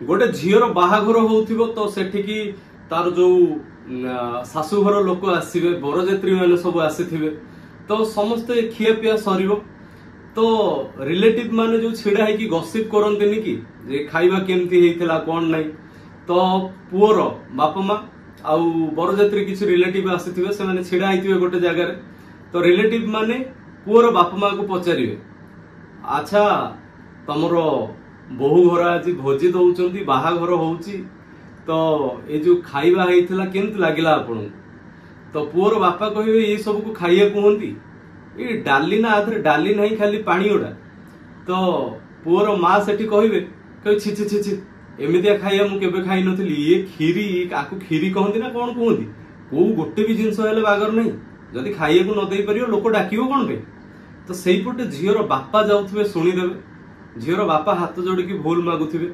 ଗୋଟେ ଝିଅର ବାହାଘର ହଉଥିବ ତ ସେଠିକି ତାର ଯୋଉ ଶାଶୁଘର ଲୋକ ଆସିବେ, ବରଯାତ୍ରୀ ମାନେ ସବୁ ଆସିଥିବେ, ତ ସମସ୍ତେ ଖିଆ ପିଆ ସରିବ ତ ରିଲେଟିଭ ମାନେ ଯୋଉ ଛିଡା ହେଇକି ଗସିପ କରନ୍ତିନି କି ଯେ ଖାଇବା କେମିତି ହେଇଥିଲା କଣ ନାହିଁ, ତ ପୁଅର ବାପା ମା ଆଉ ବରଯାତ୍ରୀ କିଛି ରିଲେଟିଭ ଆସିଥିବେ, ସେମାନେ ଛିଡା ହେଇଥିବେ ଗୋଟେ ଜାଗାରେ। ତ ରିଲେଟିଭ ମାନେ ପୁଅର ବାପା ମାକୁ ପଚାରିବେ, ଆଚ୍ଛା ତମର ବୋହୂ ଘର ଆଜି ଭୋଜି ଦଉଛନ୍ତି, ବାହାଘର ହଉଛି, ତ ଏ ଯୋଉ ଖାଇବା ହେଇଥିଲା କେମିତି ଲାଗିଲା ଆପଣଙ୍କୁ? ତ ପୁଅର ବାପା କହିବେ ଏଇ ସବୁକୁ ଖାଇବା କୁହନ୍ତି, ଏ ଡାଲି ନା ଆଧରେ ଡାଲି ନାହିଁ ଖାଲି ପାଣି ଗୁଡା। ତ ପୁଅର ମା ସେଠି କହିବେ, କହିବେ ଛି ଛି ଛି ଛି, ଏମିତିଆ ଖାଇବା ମୁଁ କେବେ ଖାଇନଥିଲି, ଇଏ କ୍ଷୀରି, ଆକୁ କ୍ଷୀରି କହନ୍ତି ନା କଣ କୁହନ୍ତି, କୋଉ ଗୋଟେ ବି ଜିନିଷ ହେଲେ ବାଗର ନାହିଁ, ଯଦି ଖାଇବାକୁ ନ ଦେଇପାରିବ ଲୋକ ଡାକିବ କଣ ପାଇଁ? ତ ସେଇପଟେ ଝିଅର ବାପା ଯାଉଥିବେ ଶୁଣିଦେବେ, ଝିଅର ବାପା ହାତ ଯୋଡ଼ିକି ଭୁଲ ମାଗୁଥିବେ।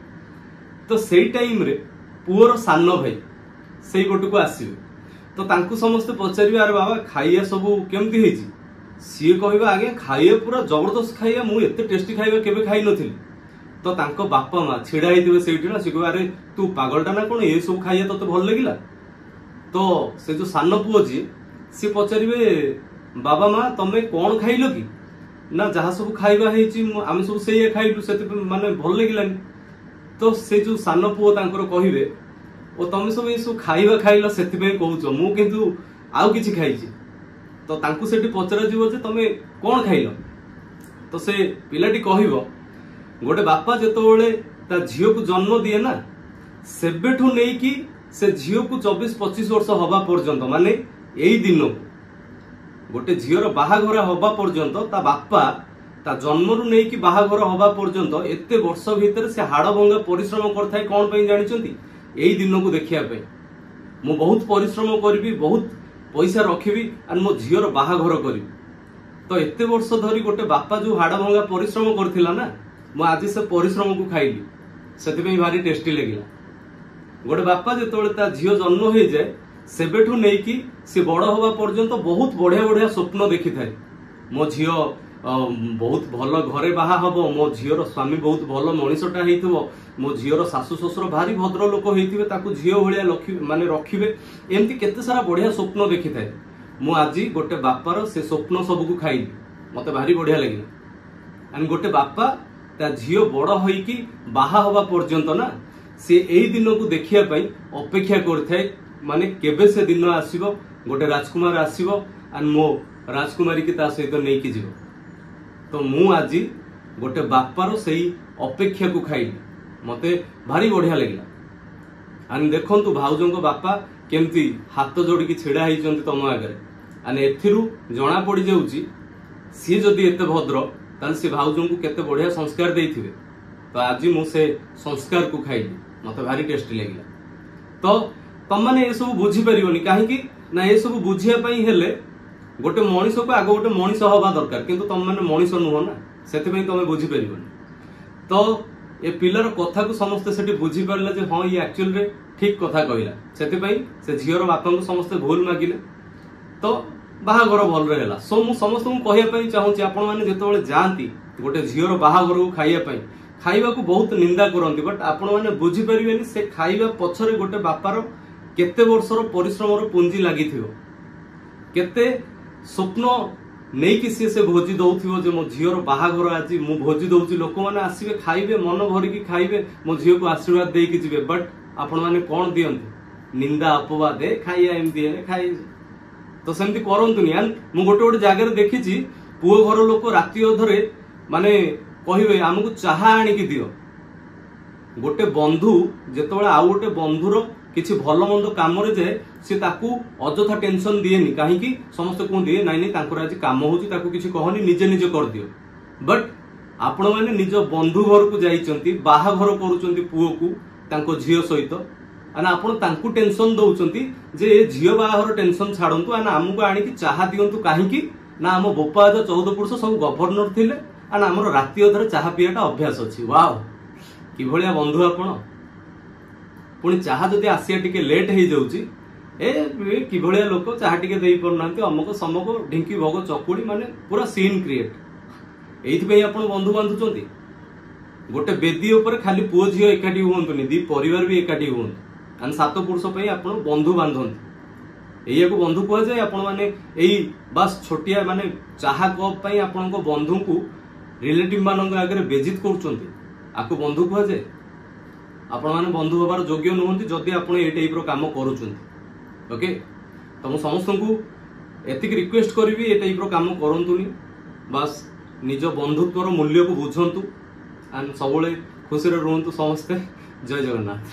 ତ ସେଇ ଟାଇମରେ ପୁଅର ସାନ ଭାଇ ସେଇପଟକୁ ଆସିବେ, ତ ତାଙ୍କୁ ସମସ୍ତେ ପଚାରିବେ, ଆରେ ବାବା ଖାଇବା ସବୁ କେମିତି ହେଇଛି? ସିଏ କହିବେ, ଆଜ୍ଞା ଖାଇବା ପୁରା ଜବରଦସ୍ତ ଖାଇବା, ମୁଁ ଏତେ ଟେଷ୍ଟି ଖାଇବା କେବେ ଖାଇନଥିଲି। ତ ତାଙ୍କ ବାପା ମା ଛିଡା ହେଇଥିବେ ସେଇଠି ନା, ସିଏ କହିବେ, ଆରେ ତୁ ପାଗଳଟା ନା କଣ, ଏ ସବୁ ଖାଇବା ତତେ ଭଲ ଲାଗିଲା? ତ ସେ ଯୋଉ ସାନ ପୁଅ ଯିଏ ସିଏ ପଚାରିବେ, ବାବା ମା ତମେ କଣ ଖାଇଲ କି? ନା ଯାହା ସବୁ ଖାଇବା ହେଇଛି ଆମେ ସବୁ ସେଇଆ ଖାଇଲୁ, ସେଥିପାଇଁ ମାନେ ଭଲ ଲାଗିଲାନି। ତ ସେ ଯୋଉ ସାନ ପୁଅ ତାଙ୍କର କହିବେ, ଓ ତମେ ସବୁ ଏସବୁ ଖାଇବା ଖାଇଲ ସେଥିପାଇଁ କହୁଛ, ମୁଁ କିନ୍ତୁ ଆଉ କିଛି ଖାଇଛି। ତ ତାଙ୍କୁ ସେଠି ପଚରାଯିବ ଯେ ତମେ କଣ ଖାଇଲ? ତ ସେ ପିଲାଟି କହିବ, ଗୋଟେ ବାପା ଯେତେବେଳେ ତା ଝିଅକୁ ଜନ୍ମ ଦିଏ ନା, ସେବେଠୁ ନେଇକି ସେ ଝିଅକୁ 24-25 ବର୍ଷ ହବା ପର୍ଯ୍ୟନ୍ତ, ମାନେ ଏଇ ଦିନକୁ ଗୋଟେ ଝିଅର ବାହାଘର ହବା ପର୍ଯ୍ୟନ୍ତ, ତା ବାପା ତା ଜନ୍ମରୁ ନେଇକି ବାହାଘର ହବା ପର୍ଯ୍ୟନ୍ତ ଏତେ ବର୍ଷ ଭିତରେ ସେ ହାଡ଼ ଭଙ୍ଗା ପରିଶ୍ରମ କରିଥାଏ। କଣ ପାଇଁ ଜାଣିଛନ୍ତି? ଏଇ ଦିନକୁ ଦେଖିବା ପାଇଁ। ମୁଁ ବହୁତ ପରିଶ୍ରମ କରିବି, ବହୁତ ପଇସା ରଖିବି ଆଉ ମୋ ଝିଅର ବାହାଘର କରିବି। ତ ଏତେ ବର୍ଷ ଧରି ଗୋଟେ ବାପା ଯୋଉ ହାଡ଼ ଭଙ୍ଗା ପରିଶ୍ରମ କରିଥିଲା ନା, ମୁଁ ଆଜି ସେ ପରିଶ୍ରମକୁ ଖାଇଲି, ସେଥିପାଇଁ ଭାରି ଟେଷ୍ଟି ଲାଗିଲା। ଗୋଟେ ବାପା ଯେତେବେଳେ ତା ଝିଅ ଜନ୍ମ ହେଇଯାଏ, ସେବେଠୁ ନେଇକି ସେ ବଡ ହବା ପର୍ଯ୍ୟନ୍ତ ବହୁତ ବଢିଆ ବଢିଆ ସ୍ୱପ୍ନ ଦେଖିଥାଏ। ମୋ ଝିଅ ବହୁତ ଭଲ ଘରେ ବାହା ହବ, ମୋ ଝିଅର ସ୍ୱାମୀ ବହୁତ ଭଲ ମଣିଷଟା ହେଇଥିବ, ମୋ ଝିଅର ଶାଶୁ ଶ୍ୱଶୁର ଭାରି ଭଦ୍ର ଲୋକ ହେଇଥିବେ, ତାକୁ ଝିଅ ଭଳିଆ ମାନେ ରଖିବେ, ଏମିତି କେତେ ସାରା ବଢିଆ ସ୍ୱପ୍ନ ଦେଖିଥାଏ। ମୁଁ ଆଜି ଗୋଟେ ବାପାର ସେ ସ୍ୱପ୍ନ ସବୁକୁ ଖାଇଲି, ମତେ ଭାରି ବଢିଆ ଲାଗିଲା। ଆଣ୍ଡ ଗୋଟେ ବାପା ତା ଝିଅ ବଡ ହେଇକି ବାହା ହବା ପର୍ଯ୍ୟନ୍ତ ନା, ସେ ଏଇ ଦିନକୁ ଦେଖିବା ପାଇଁ ଅପେକ୍ଷା କରିଥାଏ, ମାନେ କେବେ ସେ ଦିନ ଆସିବ, ଗୋଟେ ରାଜକୁମାର ଆସିବ ଆଣ୍ଡ ମୋ ରାଜକୁମାରୀ କି ତା ସହିତ ନେଇକି ଯିବ। ତ ମୁଁ ଆଜି ଗୋଟେ ବାପାର ସେଇ ଅପେକ୍ଷାକୁ ଖାଇଲି, ମତେ ଭାରି ବଢିଆ ଲାଗିଲା। ଆଣ୍ଡ ଦେଖନ୍ତୁ ଭାଉଜଙ୍କ ବାପା କେମିତି ହାତ ଯୋଡ଼ିକି ଛିଡା ହେଇଛନ୍ତି ତମ ଆଗରେ। ଆଣ୍ଡ ଏଥିରୁ ଜଣା ପଡିଯାଉଛି ସିଏ ଯଦି ଏତେ ଭଦ୍ର, ତାହେଲେ ସେ ଭାଉଜଙ୍କୁ କେତେ ବଢିଆ ସଂସ୍କାର ଦେଇଥିବେ। ତ ଆଜି ମୁଁ ସେ ସଂସ୍କାରକୁ ଖାଇଲି, ମତେ ଭାରି ଟେଷ୍ଟି ଲାଗିଲା। ତ ତମମାନେ ଏସବୁ ବୁଝିପାରିବନି, କାହିଁକି ନା ଏସବୁ ବୁଝିବା ପାଇଁ ହେଲେ ଗୋଟେ ମଣିଷକୁ ଆଗ ଗୋଟେ ମଣିଷ ହବା ଦରକାର, କିନ୍ତୁ ତମମାନେ ମଣିଷ ନୁହଁ ନା, ସେଥିପାଇଁ ତମେ ବୁଝିପାରିବନି। ତ ଏ ପିଲାର କଥାକୁ ସମସ୍ତେ ସେଠି ବୁଝିପାରିଲେ ଯେ ହଁ ଇଏ ଆକ୍ଚୁଆଲିରେ ଠିକ କଥା କହିଲା, ସେଥିପାଇଁ ସେ ଝିଅର ବାପାଙ୍କୁ ସମସ୍ତେ ଭୁଲ ମାଗିଲେ, ତ ବାହାଘର ଭଲରେ ହେଲା। ସୋ ମୁଁ ସମସ୍ତଙ୍କୁ କହିବା ପାଇଁ ଚାହୁଁଛି, ଆପଣମାନେ ଯେତେବେଳେ ଯାଆନ୍ତି ଗୋଟେ ଝିଅର ବାହାଘରକୁ ଖାଇବା ପାଇଁ, ଖାଇବାକୁ ବହୁତ ନିନ୍ଦା କରନ୍ତି, ବଟ୍ ଆପଣମାନେ ବୁଝିପାରିବେନି ସେ ଖାଇବା ପଛରେ ଗୋଟେ ବାପାର କେତେ ବର୍ଷର ପରିଶ୍ରମର ପୁଞ୍ଜି ଲାଗିଥିବ, କେତେ ସ୍ୱପ୍ନ ନେଇକି ସିଏ ସେ ଭୋଜି ଦଉଥିବ ଯେ ମୋ ଝିଅର ବାହାଘର ଆଜି ମୁଁ ଭୋଜି ଦଉଛି, ଲୋକମାନେ ଆସିବେ ଖାଇବେ, ମନ ଭରିକି ଖାଇବେ, ମୋ ଝିଅକୁ ଆଶୀର୍ବାଦ ଦେଇକି ଯିବେ। ବଟ୍ ଆପଣମାନେ କଣ ଦିଅନ୍ତି? ନିନ୍ଦା ଅପବାଦ, ଏ ଖାଇବା ଏମିତି ଖାଇ, ତ ସେମିତି କରନ୍ତୁନି। ଆଣ୍ଡ ମୁଁ ଗୋଟେ ଗୋଟେ ଜାଗାରେ ଦେଖିଛି ପୁଅ ଘର ଲୋକ ରାତି ଅଧରେ ମାନେ କହିବେ ଆମକୁ ଚାହା ଆଣିକି ଦିଅ। ଗୋଟେ ବନ୍ଧୁ ଯେତେବେଳେ ଆଉ ଗୋଟେ ବନ୍ଧୁର କିଛି ଭଲ ମନ୍ଦ କାମରେ ଯାଏ, ସେ ତାକୁ ଅଯଥା ଟେନସନ ଦିଏନି। କାହିଁକି? ସମସ୍ତେ କୁହନ୍ତି ନାଇଁ ନାଇଁ ତାଙ୍କର ଆଜି କାମ ହଉଛି, ତାକୁ କିଛି କହନି, ନିଜେ ନିଜେ କରିଦିଅ। ବଟ୍ ଆପଣମାନେ ନିଜ ବନ୍ଧୁ ଘରକୁ ଯାଇଛନ୍ତି, ବାହାଘର କରୁଛନ୍ତି ପୁଅକୁ ତାଙ୍କ ଝିଅ ସହିତ, ଆଣ୍ଡ ଆପଣ ତାଙ୍କୁ ଟେନସନ ଦଉଛନ୍ତି ଯେ ଏ ଝିଅ ବାହାଘର ଟେନସନ ଛାଡନ୍ତୁ, ଆଣ୍ଡ ଆମକୁ ଆଣିକି ଚାହା ଦିଅନ୍ତୁ। କାହିଁକି ନା ଆମ ବୋପା ଅଜା 14 ପୁରୁଷ ସବୁ ଗଭର୍ଣ୍ଣର ଥିଲେ, ଆଣ୍ଡ ଆମର ରାତି ଅଧରେ ଚାହା ପିଇବାଟା ଅଭ୍ୟାସ ଅଛି। ୱାଓ, କିଭଳିଆ ବନ୍ଧୁ ଆପଣ! ପୁଣି ଚାହା ଯଦି ଆସିବା ଟିକେ ଲେଟ୍ ହେଇଯାଉଛି, ଏ କିଭଳିଆ ଲୋକ ଚାହା ଟିକେ ଦେଇପାରୁନାହାନ୍ତି, ଅମକ ସମକ ଢିଙ୍କି ଭୋଗ ଚକୁଳି, ମାନେ ପୁରା ସିନ୍ କ୍ରିଏଟ୍। ଏଇଥିପାଇଁ ଆପଣ ବନ୍ଧୁ ବାନ୍ଧୁଛନ୍ତି? ଗୋଟେ ବେଦୀ ଉପରେ ଖାଲି ପୁଅ ଝିଅ ଏକାଠି ହୁଅନ୍ତୁନି, ଦି ପରିବାର ବି ଏକାଠି ହୁଅନ୍ତୁ। ଆଣ୍ଡ 7 ପୁରୁଷ ପାଇଁ ଆପଣ ବନ୍ଧୁ ବାନ୍ଧନ୍ତି, ଏଇଆକୁ ବନ୍ଧୁ କୁହାଯାଏ। ଆପଣମାନେ ଏଇ ବାସ୍ ଛୋଟିଆ ମାନେ ଚାହା କପ୍ ପାଇଁ ଆପଣଙ୍କ ବନ୍ଧୁଙ୍କୁ ରିଲେଟିଭ ମାନଙ୍କ ଆଗରେ ବେଜିତ କରୁଛନ୍ତି, ଆକୁ ବନ୍ଧୁ କୁହାଯାଏ? ଆପଣମାନେ ବନ୍ଧୁ ହେବାର ଯୋଗ୍ୟ ନୁହନ୍ତି ଯଦି ଆପଣ ଏଇ ଟାଇପର କାମ କରୁଛନ୍ତି। ଓକେ, ତ ମୁଁ ସମସ୍ତଙ୍କୁ ଏତିକି ରିକ୍ୱେଷ୍ଟ କରିବି, ଏ ଟାଇପର କାମ କରନ୍ତୁନି। ବାସ୍ ନିଜ ବନ୍ଧୁତ୍ୱର ମୂଲ୍ୟକୁ ବୁଝନ୍ତୁ ଆଣ୍ଡ ସବୁବେଳେ ଖୁସିରେ ରୁହନ୍ତୁ ସମସ୍ତେ। ଜୟ ଜଗନ୍ନାଥ।